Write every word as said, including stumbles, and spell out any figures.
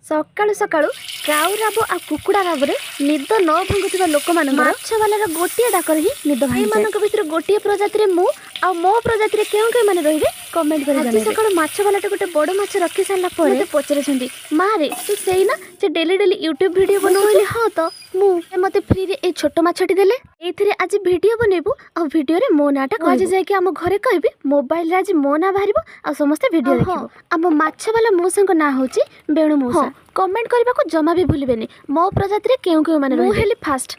ସକାଳୁ ସକାଳୁ କାଉ ରାବ ଆଉ କୁକୁଡ଼ା ରାବରେ ନିଦ ନ ଭାଙ୍ଗୁଥିବା ଲୋକମାନଙ୍କର ମାଛବାଲାର ଗୋଟିଏ ଡାକରେ ହିଁ ନିଦ ଭାଙ୍ଗି ଏମାନଙ୍କ ଭିତରୁ ଗୋଟିଏ ପ୍ରଜାତିରେ ମୁଁ ଆଉ ମୋ ପ୍ରଜାତିରେ କେଉଁ କେଉଁମାନେ ରହିବେ କମେଣ୍ଟ କରି ଆଜି ସକାଳୁ ମାଛବାଲାଟା ଗୋଟେ ବଡ଼ ମାଛ ରଖି ସାରିଲା ପରେ ମୋତେ ପଚାରୁଛନ୍ତି ମାରେ ତୁ ସେଇ ନା ଯେ ଡେଲି ଡେଲି ୟୁଟ୍ୟୁବ ଭିଡ଼ିଓ ବନଉ ହଁ ତ ମୁଁ ଏ ମୋତେ ଫ୍ରିରେ ଏଇ ଛୋଟ ମାଛଟି ଦେଲେ ଏଇଥିରେ ଆଜି ଭିଡ଼ିଓ ବନେଇବୁ ଆଉ ଭିଡ଼ିଓରେ ମୋ ନାଁଟା ଆଜି ଯାଇକି ଆମ ଘରେ କହିବି ମୋବାଇଲରେ ଆଜି ମୋ ନାଁ ବାହାରିବ ଆଉ ସମସ୍ତେ ଭିଡ଼ିଓ ଦେଖିବ ଆମ ମାଛବାଲା ମଉସାଙ୍କ ନାଁ ହେଉଛି ବେଣୁ ମଉସା କମେଣ୍ଟ କରିବାକୁ ଜମା ବି ଭୁଲିବେନି ମୋ ପ୍ରଜାତିରେ କେଉଁ କେଉଁମାନେ ମୁଁ ହେଲି ଫାଷ୍ଟ